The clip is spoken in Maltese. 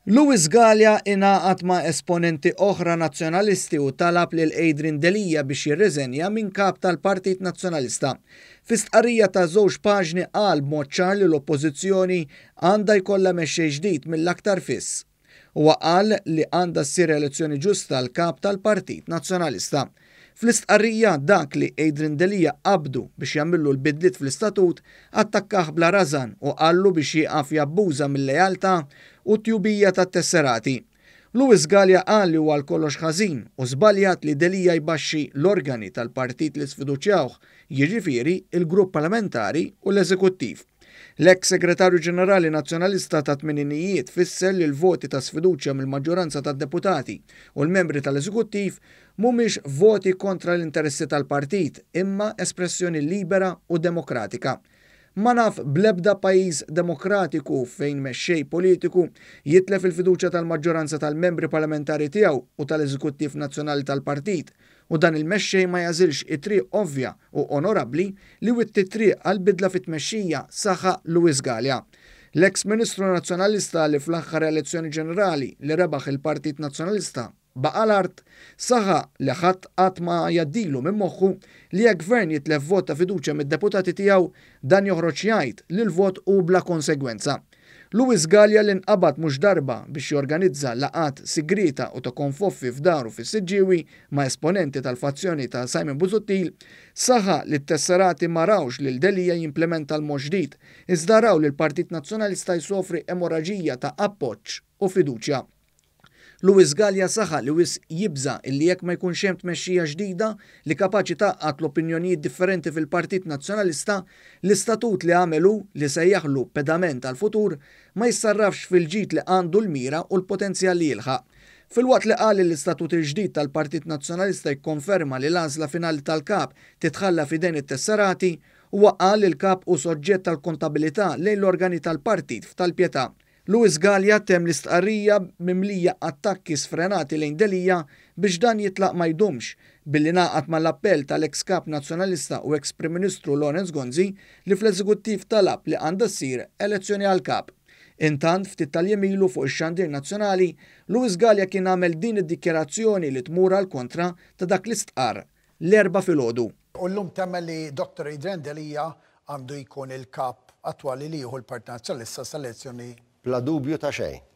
Louis Galea ingħaqad ma' esponenti oħra Nazzjonalisti u talab lil Adrian Delia biex jirriżenja minn Kap tal-Partit Nazzjonalista. Fi stqarrija ta' żewġ paġni qal b'mod ċar li l-Oppożizzjoni għandha jkollha mexxej ġdid mill-aktar fis. Huwa qal li għandha ssir elezzjoni ġusta għal Kap tal-Partit Nazzjonalista. Fl-istqarrija, dak li Adrian Delia qabdu biex jagħmillu l-bidliet fl-istatut, attakkah bla rażan u qallu biex jieqaf jabbuża mil-lealtà u t-tjubija tat-tesserati. Louis Galea qal li huwa għal kollox ħażin u żbaljat li Delia jbaxxi l-organi tal-partit li sfiduċjawh, jiġifieri l-grupp parlamentari u l-eżekuttiv. L-eks Segretarju Ġenerali Nazzjonalista tat-tmeninijiet fisser li l-voti ta' sfiduċja mill-maġġoranza tad-deputati u l-membri tal-eżekuttiv mhumiex voti kontra l-interessi tal-partit imma espressjoni libera u demokratika. Ma naf bl-ebda pajjiż demokratiku fejn mexxej politiku jitlef il-fiduċja tal-maġġoranza tal-membri parlamentari tiegħu u tal-eżekuttiv nazzjonali tal-partit u dan il-mexxej ma jagħżilx it-triq ovvja u onorabbli li witti t-triq għal bidla fit-tmexxija, saħaq Louis Galea. L-eks Ministru Nazzjonalista li fl-aħħar elezzjoni ġenerali li rebaħ il-Partit Nazzjonalista baqa' l-art, saħaq li ħadd qatt ma jgħaddilu minn moħħu li jekk Gvern jitlef vot ta' fiduċja mid-deputati tiegħu, dan joħroġ jgħid li l-vot hu bla konsegwenza. Louis Galea li nqabad mhux darba biex jorganizza laqgħat sigrieta u ta' konfoffi f'daru fis-Siġġiewi ma' esponenti tal-fazzjoni ta' Simon Busuttil, saħaq li t-tesserati ma rawx lil Delia jimplementa l-mod ġdid, iżda raw lill-Partit Nazzjonalista jsofri emorraġija ta' appoġġ u fiduċja. Louis Galea saħaq li wisq jibża' illi jekk ma jkunx hemm tmexxija ġdida li kapaċi tgħaqqad l-opinjonijiet differenti fil-Partit Nazzjonalista, l-istatut li għamel hu, li sejjaħlu pedament għall-futur, ma jissarrafx fil-ġid li għandu l-mira u l-potenzjal li jilħaq. Filwaqt li qal li l-istatut il-ġdid tal-Partit Nazzjonalista jikkonferma li l-għażla finali tal-Kap titħalla f'idejn it-tesserati, huwa qal li l-Kap hu soġġett għall-kontabilità lejn l-organi tal-partit f'tal-Pietà. Louis Galea temm l-istqarrija mimlija attakki sfrenati lejn Delia biex dan jitlaq ma jdumx, billi ngħaqad mal-appell tal-eks Kap Nazzjonalista u eks Prim Ministru Lawrence Gonzi li fl-Eżekuttiv talab li għandha ssir elezzjoni għall-Kap. Intant, ftit tal-jiem ilu fuq ix-xandir nazzjonali, Louis Galea kien għamel din id-dikjarazzjoni li tmur għall-kontra ta' dak li stqarr l-Erbgħa filgħodu. U llum temmen li Dottor Adrian Delia għandu jkun il-Kap attwali li jieħu l-Partit Nazzjonalista sal-elezzjoni Bla dubju ta' xejn.